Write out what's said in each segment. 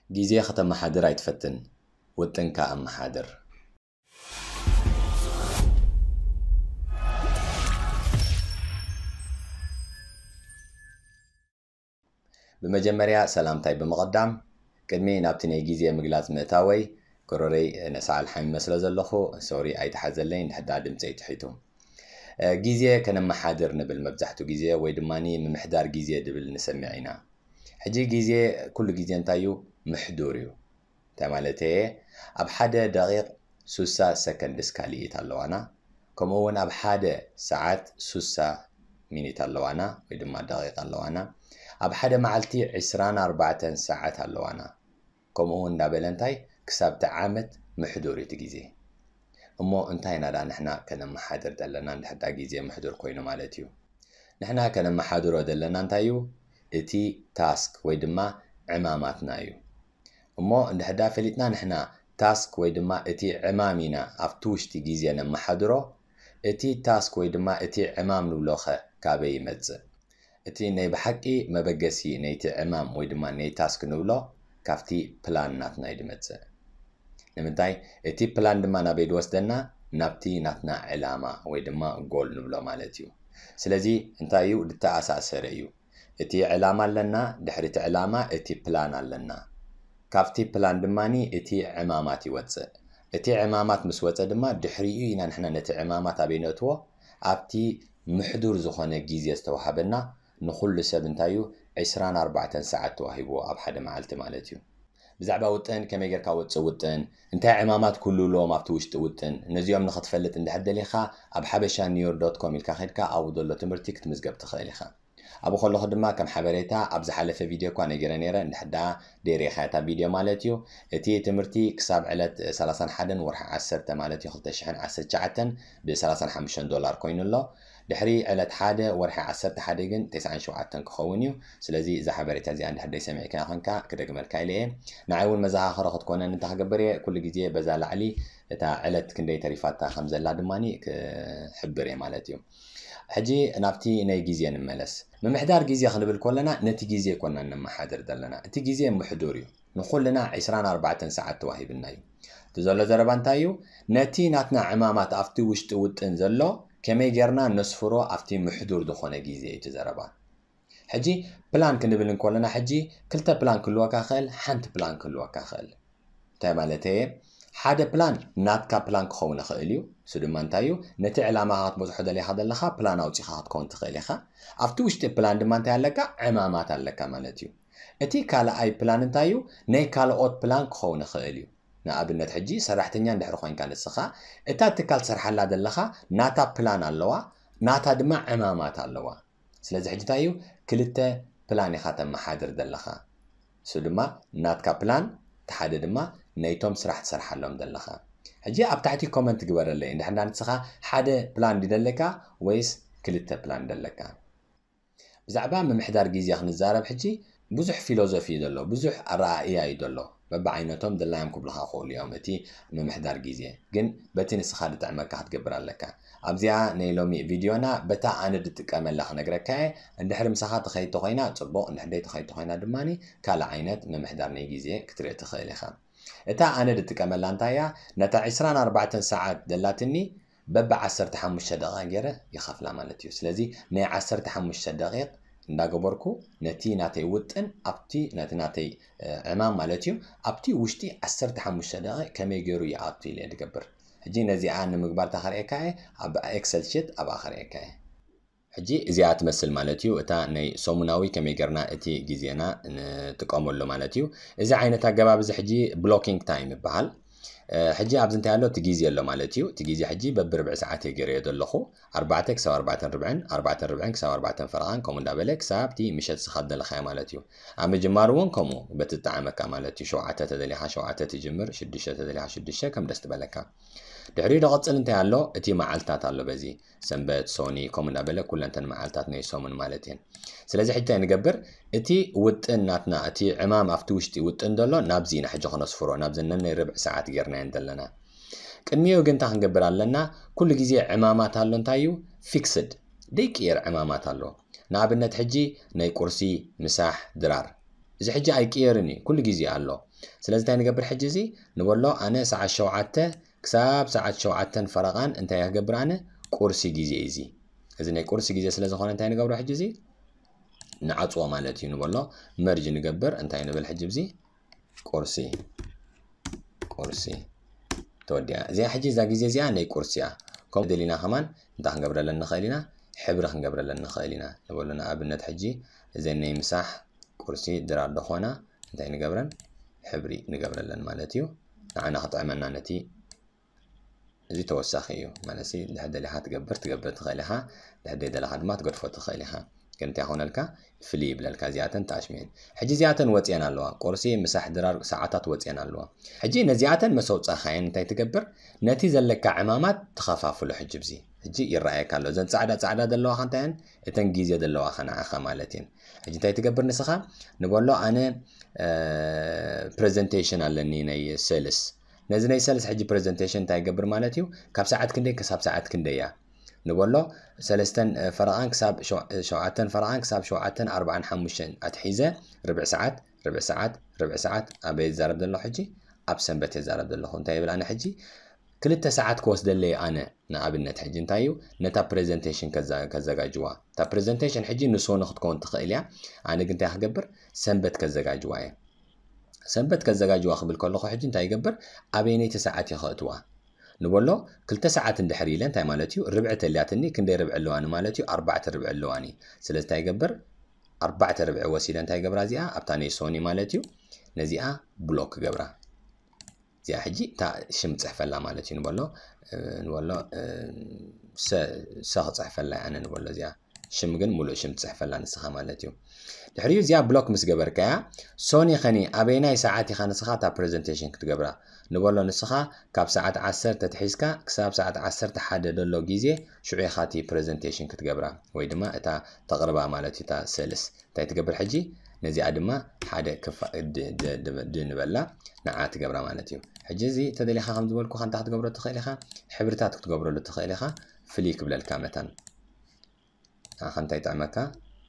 ግዜ ከተመሓድር ኣይትፈትን፣ ውጥንካ ኣመሓድር። ብመጀመርያ ሰላምታይ ብምቕዳም፣ ቅድሚ ናብቲ ናይ ግዜ ምግላጽ ምእታወይ፣ ጎረረይ ነሳዕ ኣልሓሚመ ስለ ዘለኹ፣ ሶሪ ኣይትሓዘለይ፣ እንድሕዳ ድምጸይ ትሒቱ። እ፣ ግዜ ከነመሓድር ንብል መብዛሕትኡ ግዜ፣ ወይ ድማ ምምሕዳር ግዜ ድብል ንሰምዕ ኢና። ሕጂ ግዜ፣ ኩሉ ግዜ እንታይ እዩ? ምሕዱር እዩ። እንታይ ማለት እየ? ኣብ ሓደ ደቂቕ ሱሳ ሰከንድስ ካልኢት ኣለዋና። ከምኡ እውን ኣብ ሓደ ሰዓት ሱሳ ሚኒት ኣለዋና፣ ወይ ድማ ደቂቕ ኣለዋና። ኣብ ሓደ መዓልቲ ዕስራን ኣርባዕተን ሰዓት ኣለዋና። ከምኡ እውን እንዳበለ እንታይ? ክሳብ እቲ ዓመት ምሕዱር እዩ እቲ ግዜ። እሞ እንታይ ኢና ደኣ ንሕና ከነመሓድር ዘለና እንድሕር ደኣ ግዜ ምሕዱር ኮይኑ ማለት እዩ? ንሕና ከነመሓድሮ ዘለና እንታይ እዩ? እቲ ታስክ ወይ ድማ ዕማማትና እዩ። እሞ እንድሕር ደኣ ፈሊጥና ንሕና ታስክ ወይ ድማ እቲ ዕማም ኢና ኣብቲ ውሽጢ ግዜ ነመሓድሮ፣ እቲ ታስክ ወይ ድማ እቲ ዕማም ንብሎ ኸ ካበይ ይመጽእ? እቲ ናይ ብሓቂ መበገሲ ናይቲ ዕማም ወይ ድማ ናይ ታስክ ንብሎ ካብቲ ፕላን ናትና እዩ ዝመጽእ። ንምንታይ? እቲ ፕላን ድማ ናበይ ዝወስደና? ናብቲ ናትና ዕላማ ወይ ድማ ጎል ንብሎ ማለት እዩ። ስለዚ እንታይ እዩ? ዝተኣሳሰረ እዩ። እቲ ዕላማ ኣለና፣ ድሕሪ እቲ ዕላማ እቲ ፕላን ኣለና። ካብቲ ፕላን ድማ እቲ ዕማማት ይወጽእ። እቲ ዕማማት ምስ ወጸ ድማ ድሕሪኡ ኢና ንሕና ነቲ ዕማማት ኣበይ ነእትዎ? ኣብቲ ምሕዱር ዝኾነ ግዜ ዝተዋሃበና፣ ንኹሉ ሰብ እንታይ እዩ? ዕስራን ኣርባዕተን ሰዓት ተዋሂብዎ ኣብ ሓደ መዓልቲ ማለት እዩ። ብዛዕባ ውጥን፣ ከመይ ጌርካ ወጽእ ውጥን፣ እንታይ ዕማማት ክህልውሎም ኣብቲ ውሽጢ ውጥን፣ ነዚኦም ንኽትፈልጥ እንድሕር ደሊኻ፣ ኣብ ሓበሻ ኒውዮርክ ዶት ኮም ኢልካ ኸድካ ኣብኡ ዘሎ ትምህርቲ ክትምዝገብ ትኽእል ኢኻ። ኣብኡ ከለኹ ድማ ከም ሓበሬታ ኣብ ዝሓለፈ ቪድዮ እኳ ነጊረ ነይረ፣ እንድሕር ደኣ ደይሪኻ እታ ቪድዮ ማለት እዩ። እቲ ትምህርቲ ክሳብ ዕለት ሰላሳን ሓደን ወርሒ ዓሰርተ ማለት እዩ ክልተ ሽሕን ዓሰርተ ትሽዓተን ብ ሰላሳን ሓሙሽተን ዶላር ኮይኑ ኣሎ። ድሕሪ ዕለት ሓደ ወርሒ ዓሰርተ ሓደ ግን ተስዓን ሸውዓተን ክኸውን እዩ። ስለዚ እዛ ሓበሬታ እዚኣ እንድሕር ደይሰሚዕካያ ኾንካ ክደግመልካ ኢለ እየ። ንዓይ እውን መዘኻኸሪ ክትኮነኒ እንታይ ክገብር እየ? ኩሉ ግዜ በዛ ላዕሊ እታ ዕለት ክንደይ ተሪፋታ ከም ዘላ ድማ ክሕብር እየ ማለት እዩ። ሕጂ ናብቲ ናይ ግዜ ንመለስ። ምምሕዳር ግዜ ክንብል ከለና ነቲ ግዜ ኮና ነመሓድር ዘለና። እቲ ግዜ ምሕዱር እዩ። ንኹልና ዕስራን ኣርባዕተን ሰዓት ተዋሂብና እዩ። እቲ ዘሎ ዘረባ እንታይ እዩ? ነቲ ናትና ዕማማት ኣብቲ ውሽጢ ውጥን ዘሎ ከመይ ጌርና ነስፍሮ ኣብቲ ምሕዱር ዝኾነ ግዜ እዩ እቲ ዘረባ። ሕጂ ፕላን ክንብል እንከለና ሕጂ ክልተ ፕላን ክህልወካ ይኽእል፣ ሓንቲ ፕላን ክህልወካ ይኽእል። እንታይ ማለት እየ? ሓደ ፕላን ናትካ ፕላን ክኸውን ይኽእል እዩ። እሱ ድማ እንታይ እዩ? ነቲ ዕላማኻ ክትበጽሖ ደሊኻ ዘለኻ ፕላን ኣውጺኻ ክትከውን ትኽእል ኢኻ። ኣብቲ ውሽጢ ፕላን ድማ እንታይ ኣለካ? ዕማማት ኣለካ ማለት እዩ። እቲ ካልኣይ ፕላን እንታይ እዩ? ናይ ካልኦት ፕላን ክኸውን ይኽእል እዩ። ንኣብነት ሕጂ ሰራሕተኛ እንድሕር ኮይንካ ንስኻ፣ እታ ትካል ትሰርሓላ ዘለኻ ናታ ፕላን ኣለዋ፣ ናታ ድማ ዕማማት ኣለዋ። ስለዚ ሕጂ እንታይ እዩ? ክልተ ፕላን ኢኻ ተመሓድር ዘለኻ። እሱ ድማ ናትካ ፕላን፣ እቲ ሓደ ድማ ናይቶም ስራሕ ትሰርሓሎም ዘለኻ። ሕጂ ኣብ ታሕቲ ኮመንት ግበረለይ፣ እንድሕር እንዳ ንስኻ ሓደ ፕላን ድዩ ደለካ ወይስ ክልተ ፕላን ደለካ? ብዛዕባ ምምሕዳር ግዜ ክንዛረብ ሕጂ ብዙሕ ፊሎዞፊ እዩ ዘሎ፣ ብዙሕ ኣረኣእያ እዩ ዘሎ። በብዓይነቶም ድላዮም ክብሉኻ ክኽእሉ እዮም። እቲ ምምሕዳር ግዜ ግን በቲ ንስኻ ዝጥዕመካ ክትገብር ኣለካ። ኣብዚኣ ናይ ሎሚ ቪድዮና በታ ኣነ ዝጥቀመላ ክነግረካ እየ። እንድሕር ምሳኻ ትኸይድ ተኾይና ጽቡቕ፣ እንድሕር ደይ ትኸይድ ተኾይና ድማ ካልእ ዓይነት ምምሕዳር ናይ ግዜ ክትርኢ ትኽእል ኢኻ። እታ ኣነ ዝጥቀመላ እንታይ እያ? ነታ ዕስራን ኣርባዕተን ሰዓት ዘላትኒ በቢ ዓሰርተ ሓሙሽተ ደቂቕ ገይረ ይኸፍላ ማለት እዩ። ስለዚ ናይ ዓሰርተ ሓሙሽተ ደቂቕ እንዳገበርኩ ነቲ ናተይ ውጥን ኣብቲ ነቲ ናተይ፣ እ፣ ዕማም ማለት እዩ፣ ኣብቲ ውሽጢ ዓሰርተ ሓሙሽተ ደቂቕ ከመይ ገይሩ ይኣቱ ኢለ ዝገብር። ሕጂ ነዚኣ ንምግባር እታ ከርእየካ እየ፣ ኣብ ኤክሰል ሽት ኣብኣ ከርእየካ እየ። ሕጂ እዚኣ ትመስል ማለት እዩ፣ እታ ናይ ሰሙናዊ ከመይ ጌርና እቲ ግዜና ንጥቀመሉ ማለት እዩ። እዚ ዓይነት ኣገባብ እዚ ሕጂ ብሎኪንግ ታይም ይበሃል። እ፣ ሕጂ ኣብዚ እንታይ ኣሎ? እቲ ግዜ ኣሎ ማለት እዩ። እቲ ግዜ ሕጂ በብርብዒ ሰዓት እየ ገይረዮ ዘለኹ። ኣርባዕተ ክሳብ ኣርባዕተን ርብዕን፣ ኣርባዕተን ርብዕን ክሳብ ኣርባዕተን ፈረቓን፣ ከምኡ እንዳበለ ክሳብ እቲ ምሸት ዝኸድ ዘለኻዮ ማለት እዩ። ኣብ ምጅማር እውን ከምኡ በቲ ዝጠዓመካ ማለት እዩ። ሸውዓተ ተደሊኻ ሸውዓተ ትጅምር፣ ሽዱሽተ ተደሊኻ ሽዱሽተ፣ ከም ደስ ትበለካ። ድሕሪኡ ዝቐጽል እንታይ ኣሎ? እቲ መዓልታት ኣሎ በዚ። ሰንበት፣ ሶኒ፣ ከምኡ እንዳበለ ኩለንተን መዓልታት ናይ ሰሙን ማለት እየን። ስለዚ ሕጂ እንታይ ንገብር? እቲ ውጥን ናትና፣ እቲ ዕማም ኣብቲ ውሽጢ ውጥን ዘሎ ናብዚ ኢና ሕጂ ክነስፍሮ፣ ናብዘን ነናይ ርብዒ ሰዓት ጌርናየን ዘለና። ቅድሚኡ ግን እንታይ ክንገብር ኣለና? ኩሉ ግዜ ዕማማት ኣሎ፣ እንታይ እዩ? ፊክስድ፣ ደይቅየር ዕማማት ኣሎ። ንኣብነት ሕጂ ናይ ቁርሲ፣ ምሳሕ፣ ድራር። እዚ ሕጂ ኣይቅየርን እዩ፣ ኩሉ ግዜ ኣሎ። ስለዚ እንታይ ንገብር ሕጂ? እዚ ንበሎ ኣነ ሰዓት ሸውዓተ ክሳብ ሰዓት ሸውዓተን ፈረቓን እንታይ ክገብር ኣነ? ቁርሲ ግዜ እዩ እዚ። እዚ ናይ ቁርሲ ግዜ ስለ ዝኾነ እንታይ ንገብሮ ሕጂ? እዚ ንዓፅዎ ማለት እዩ። ንበሎ መርጅ ንገብር። እንታይ ንብል ሕጂ? እዚ ቁርሲ ቁርሲ ተወዲኣ። እዚኣ ሕጂ እዛ ግዜ እዚኣ ናይ ቁርሲ እያ። ከምኡ ደሊና ከማን እንታይ ክንገብረለን ንኽእል ኢና? ሕብሪ ክንገብረለን ንኽእል ኢና። ንበሎ ንኣብነት ሕጂ እዘን ናይ ምሳሕ ቁርሲ ድራር ዝኾና እንታይ ንገብረን? ሕብሪ ንገብረለን ማለት እዩ። ንዓና ክጥዕመና ነቲ እዚ ተወሳኺ እዩ ማለት ሲ። ድሕር ደሊኻ ትገብር ትገብር ትኽእል ኢኻ። ድሕር ደሊኻ ድማ ትገድፎ ትኽእል ኢኻ። ግን እንታይ ይኾነልካ? ፍሊ ይብለልካ። እዚኣተን ተኣሽመየን። ሕጂ እዚኣተን ወፅየን ኣለዋ። ቁርሲ፣ ምሳሕ፣ ድራር ሰዓታት ወፅየን ኣለዋ። ሕጂ ነዚኣተን መሰውፃእኻየን እንታይ ትገብር? ነቲ ዘለካ ዕማማት ትኸፋፍሎ። ሕጂ ብዚ ሕጂ ይረኣየካ ኣሎ። እዘን ፃዕዳ ፃዕዳ ዘለዋ ከንታየን እተን ግዜ ዘለዋ ከነዓኻ ማለት እየን። ሕጂ እንታይ ትገብር ንስኻ? ንበሎ ኣነ ፕሬዘንቴሽን ኣለኒ ናይ ሰልስ። ነዚ ናይ ሰልስ ሕጂ ፕሬዘንቴሽን እንታይ ይገብር ማለት እዩ? ካብ ሰዓት ክንደይ ክሳብ ሰዓት ክንደይ እያ? ንበሎ ሰለስተን ፈረቓን ክሳብ ሸውዓተን ፈረቓን ክሳብ ሸውዓተን ኣርባዓን ሓሙሽተን ኣትሒዘ ርብዕ ሰዓት ርብዕ ሰዓት ርብዕ ሰዓት ኣበይ ይዛረብ ዘሎ ሕጂ? ኣብ ሰንበት ይዛረብ ዘለኹ። እንታይ ይብል ኣነ ሕጂ? ክልተ ሰዓት ክወስደለይ ኣነ ንኣብነት ሕጂ እንታይ እዩ ነታ ፕሬዘንቴሽን ከዘጋጅዋ። እታ ፕሬዘንቴሽን ሕጂ ንሶኒ ክትከውን ትኽእል እያ። ኣነ ግን እንታይ ክገብር? ሰንበት ከዘጋጅዋ እየ። ሰንበት ከዘጋጅዋ ክብል ከለኹ ሕጂ እንታይ ይገብር? ኣበይነይቲ ሰዓት እየ ከእትዋ? ንበሎ ክልተ ሰዓት እንድሕር ኢለ እንታይ ማለት እዩ? ርብዒ ተልያትኒ። ክንደይ ርብዒ ኣለዋኒ ማለት እዩ? ኣርባዕተ ርብዒ ኣለዋኒ። ስለዚ እንታይ ይገብር? ኣርባዕተ ርብዒ ወሲደ እንታይ ገብራ? እዚኣ ኣብታ ናይ ሶኒ ማለት እዩ። ነዚኣ ብሎክ ገብራ። እዚኣ ሕጂ እታ ሽም ጽሕፈላ ማለት እዩ። ንበሎ ንበሎ ሰ ክጽሕፈላ ኣነ ንበሎ። እዚኣ ሽም ግን ሙሉእ ሽም ትጽሕፈላ ንስኻ ማለት እዩ። ድሕሪኡ እዚኣ ብሎክ ምስ ገበርካያ ሶኒ ኸኒ ኣበይናይ ሰዓት ኢኻ ንስኻ እታ ፕሬዘንቴሽን ክትገብራ? ንበሎ ንስኻ ካብ ሰዓት ዓሰርተ ተትሒዝካ ክሳብ ሰዓት ዓሰርተ ሓደ ዘሎ ግዜ ሽዑ ኢኻ እቲ ፕሬዘንቴሽን ክትገብራ ወይ ድማ እታ ተቕርባ ማለት እዩ እታ ሰልስ። እንታይ ትገብር ሕጂ? ነዚኣ ድማ ሓደ ክፋ ድ ንበላ ንዓ ትገብራ ማለት እዩ። ሕጂ እዚ ተደሊኻ ከም ዝበልኩኻ እንታይ ክትገብሮ ትኽእል ኢኻ? ሕብርታት ክትገብረሉ ትኽእል ኢኻ። ፍልይ ክብለልካ መታን ንዓኻ እንታይ ይጥዕመካ?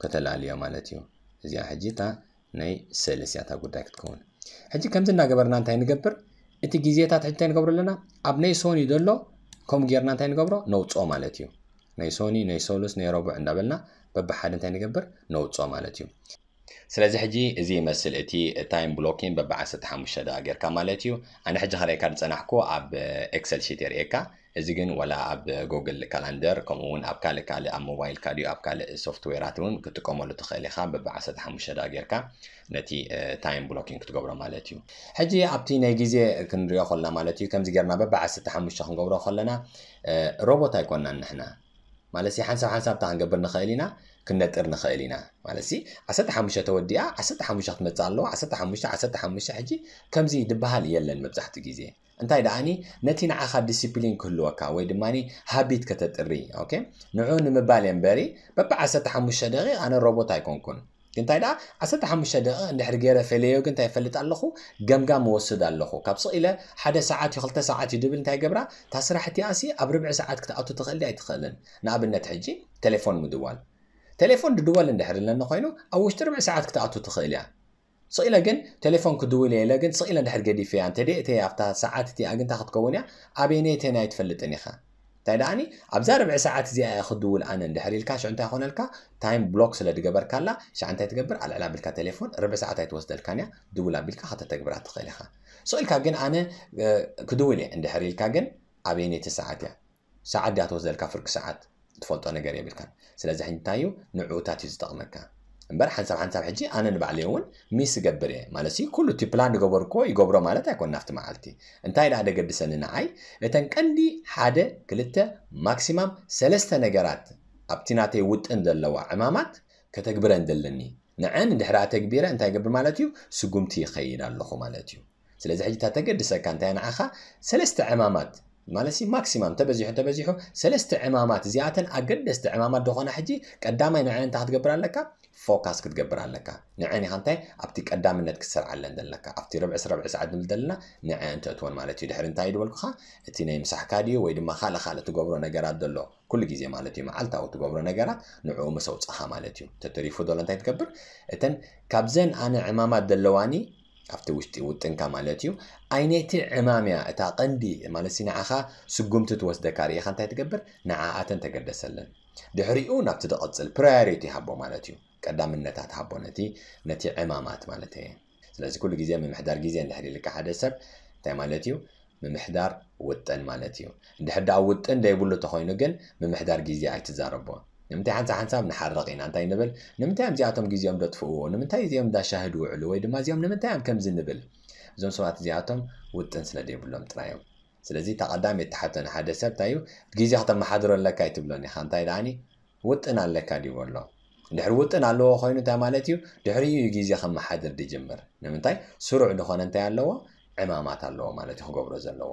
ከተላልዮ ማለት እዩ። እዚኣ ሕጂ እታ ናይ ሰልስ እያ እታ ጉዳይ ክትከውን። ሕጂ ከምዚ እናገበርና እንታይ ንገብር? እቲ ግዜታት ሕጂ እንታይ ንገብሮ ኣለና? ኣብ ናይ ሶኒ ዘሎ ከምኡ ጌርና እንታይ ንገብሮ? ነውፅኦ ማለት እዩ። ናይ ሶኒ፣ ናይ ሰሉስ፣ ናይ ረቡዕ እንዳበልና በብሓደ እንታይ ንገብር? ነውፅኦ ማለት እዩ። ስለዚ ሕጂ እዚ ይመስል እቲ ታይም ብሎኪን በቢ ዓሰርተ ሓሙሽተ ደቂቃ ጌርካ ማለት እዩ። ኣነ ሕጂ ከርእየካ ዝጸናሕኩ ኣብ ኤክሰል ሺት የርእየካ። እዚ ግን ወላ ኣብ ጉግል ካላንደር ከምኡ እውን ኣብ ካልእ ካልእ ኣብ ሞባይልካ ድዩ ኣብ ካልእ ሶፍትዌራት እውን ክትጥቀመሉ ትኽእል ኢኻ። በቢ ዓሰርተ ሓሙሽተ ደቂቃ ጌርካ ነቲ ታይም ብሎኪን ክትገብሮ ማለት እዩ። ሕጂ ኣብቲ ናይ ግዜ ክንሪኦ ከለና ማለት እዩ ከምዚ ጌርና በቢ ዓሰርተ ሓሙሽተ ክንገብሮ ከለና ሮቦት ኣይኮናን ንሕና። ማለት ሲ ሓንሳብ ሓንሳብ እንታይ ክንገብር ንኽእል ኢና? ክንነጥር ንኽእል ኢና። ማለት ሲ ዓሰርተ ሓሙሽተ ተወዲኣ ዓሰርተ ሓሙሽተ ክትመጽእ ኣለዋ። ዓሰርተ ሓሙሽተ ዓሰርተ ሓሙሽተ ሕጂ ከምዚ ድበሃል የለን መብዛሕትኡ ግዜ። እንታይ ደኣኒ ነቲ ንዓኻ ዲሲፕሊን ክህልወካ ወይ ድማ ሃቢት ከተጥሪ ኦኬ ንዑ ንምባል እየ እምበሪ በቢ ዓሰርተ ሓሙሽተ ደቂቕ ኣነ ሮቦት ኣይኮንኩን። እንታይ ደኣ ዓሰርተ ሓሙሽተ ደቂቕ እንድሕር ገይረ ፈለዮ ግን እንታይ ይፈልጥ ኣለኹ? ገምጋም እወስድ ኣለኹ። ካብ ስቕ ኢለ ሓደ ሰዓት እዩ ክልተ ሰዓት እዩ ድብል እንታይ ይገብራ? እታ ስራሕ እቲኣሲ ኣብ ርብዒ ሰዓት ክትኣቱ ትኽእል ድያ ኣይትኽእልን? ንኣብነት ሕጂ ቴሌፎን ምድዋል። ቴሌፎን ድድወል እንድሕር ኣለኒ ኮይኑ ኣብ ውሽጢ ርብዒ ሰዓት ክትኣቱ ትኽእል እያ። ስቕ ኢለ ግን ቴሌፎን ክድውል እየ ኢለ ግን ስቕ ኢለ እንድሕር ገዲፈያ እንተደይ እተይ ኣብታ ሰዓት እቲኣ ግን እንታይ ክትከውን እያ? ኣበየነይተን ኣይትፈልጥን ኢኻ። እንታይ ደኣኒ ኣብዛ ርብዒ ሰዓት እዚኣ እየ ክድውል ኣነ እንድሕር ኢልካ ሽዑ እንታይ ይኾነልካ? ታይም ብሎክ ስለ ድገበርካላ ሽዓ እንታይ ትገብር? ኣልዕል ኣቢልካ ቴሌፎን ርብዒ ሰዓት ኣይትወስደልካን እያ። ድውል ኣቢልካ ከተተግብራ ትኽእል ኢኻ። ስቕ ኢልካ ግን ኣነ ክድውል እየ እንድሕር ኢልካ ግን ኣበየነይቲ ሰዓት እያ? ሰዓት ድያ ትወስደልካ ፍርቂ ሰዓት? ትፈልጦ ነገር የብልካን። ስለዚ ሕጂ እንታይ እዩ ንዕኡታት እዩ ዝጠቕመካ። እምበር ሓንሳብ ሓንሳብ ሕጂ ኣነ ንባዕለይ እውን ሚስ እገብር እየ ማለት እዩ። ኩሉ እቲ ፕላን ዝገበርክዎ ይገብሮ ማለት ኣይኮን ናፍቲ መዓልቲ። እንታይ ደኣ ደገድሰኒ ንዓይ እተን ቀንዲ ሓደ ክልተ ማክሲማም ሰለስተ ነገራት ኣብቲ ናተይ ውጥን ዘለዋ ዕማማት ከተግብረን ዘለኒ ንዐን እንድሕር ኣተግቢረ እንታይ ይገብር ማለት እዩ? ስጉምቲ ይኸይድ ኣለኹ ማለት እዩ። ስለዚ ሕጂ እታ ተገድሰካ እንታይ ንዓኻ ሰለስተ ዕማማት ማለት ሲ ማክሲማም ተበዚሑ ተበዚሑ ሰለስተ ዕማማት እዚኣተን ኣገደስቲ ዕማማት ዝኾና ሕጂ ቀዳማይ ንዐን እንታይ ክትገብር ኣለካ? ፎካስ ክትገብር ኣለካ። ንዐን ኢኻ እንታይ ኣብቲ ቀዳምነት ክትሰርዓለን ዘለካ ኣብቲ ርብዒ ርብዒ ሰዓት ንብል ዘለና ንዐን ተእትወን ማለት እዩ። ድሕሪ እንታይ ድበልኩኻ እቲ ናይ ምሳሕካ ድዩ ወይ ድማ ካልእ ካልእ ትገብሮ ነገራት ዘሎ ኩሉ ግዜ ማለት እዩ መዓልታዊ ትገብሮ ነገራት ንዕኡ ምስ ኣውፃኻ ማለት እዩ። ተተሪፉ ዘሎ እንታይ ትገብር? እተን ካብዘን ኣነ ዕማማት ዘለዋኒ ኣብቲ ውሽጢ ውጥንካ ማለት እዩ። ኣይነቲ ዕማም እያ እታ ቀንዲ ማለት ሲ ንዓኻ ስጉምቲ ትወስደካ ርኢኻ እንታይ ትገብር፣ ንዓኣተን ተገደሰለን። ድሕሪኡ ናብቲ ዝቐጽል ፕራዮሪቲ ሃቦ ማለት እዩ። ቀዳምነታት ሃቦ ነቲ ነቲ ዕማማት ማለት እየ። ስለዚ ኩሉ ግዜ ምምሕዳር ግዜ እንድሕር ኢልካ ሓደ ሰብ እንታይ ማለት እዩ? ምምሕዳር ውጥን ማለት እዩ። እንድሕር ደኣ ውጥን ዘይብሉ ተኾይኑ ግን ምምሕዳር ግዜ ኣይትዛረቦ። ንምንታይ ሓንሳብ ሓንሳብ ንሓርቕ ኢና እንታይ ንብል? ንምንታይ እዮም እዚኣቶም ግዜኦም ደጥፍእዎ? ንምንታይ እዚኦም እንዳሻህድ ውዕሉ? ወይ ድማ እዚኦም ንምንታይ እዮም ከምዚ ንብል? እዞም ሰባት እዚኣቶም ውጥን ስለ ዘይብሎም ጥራይ እዮም። ስለዚ እታ ቀዳመይቲ ሕቶ ንሓደ ሰብ እንታይ እዩ? ግዜ ከተመሓድሮ ኣለካ ኣይትብሎን ኢኻ። እንታይ ደኣኒ? ውጥን ኣለካ ድዩ ኣሎ? እንድሕር ውጥን ኣለዎ ኮይኑ እንታይ ማለት እዩ? ድሕሪኡ እዩ ግዜ ከመሓድር ድጅምር። ንምንታይ? ስሩዕ ዝኾነ እንታይ ኣለዎ? ዕማማት ኣለዎ ማለት እዩ ክገብሮ ዘለዎ።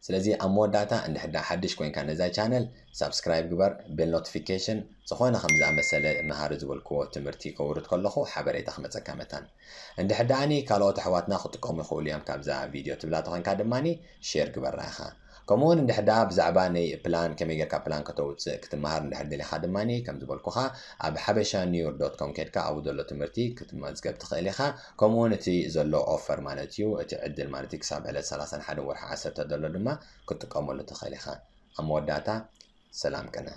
ስለዚ ኣብ መወዳእታ እንድሕር ደኣ ሓድሽ ኮይንካ ነዛ ቻነል ሳብስክራይብ ግበር፣ ቤል ኖቲፊኬሽን ዝኾነ ከም ዝኣመሰለ መሃሪ ዝበልክዎ ትምህርቲ ከውርድ ከለኹ ሓበሬታ ክመጸካ መታን። እንድሕር ደኣኒ ካልኦት ኣሕዋትና ክጥቀሙ ይኽእሉ እዮም ካብዛ ቪድዮ ትብላ ተኾይንካ ድማኒ ሼር ግበራ ኢኻ። ከምኡውን እንድሕር ደኣ ብዛዕባ ናይ ፕላን ከመይ ጌርካ ፕላን ከተውፅእ ክትመሃር እንድሕር ደሊኻ ድማኒ ከም ዝበልኩኻ ኣብ ሓበሻ ኒውር ዶት ኮም ከድካ ኣብኡ ዘሎ ትምህርቲ ክትመዝገብ ትኽእል ኢኻ። ከምኡውን እቲ ዘሎ ኦፈር ማለት እዩ እቲ ዕድል ማለት እዩ ክሳብ ዕለት ሰላሳን ሓደን ወርሒ ዓሰርተ ዘሎ ድማ ክትጥቀመሉ ትኽእል ኢኻ። ኣብ መወዳእታ ሰላም ቅነ።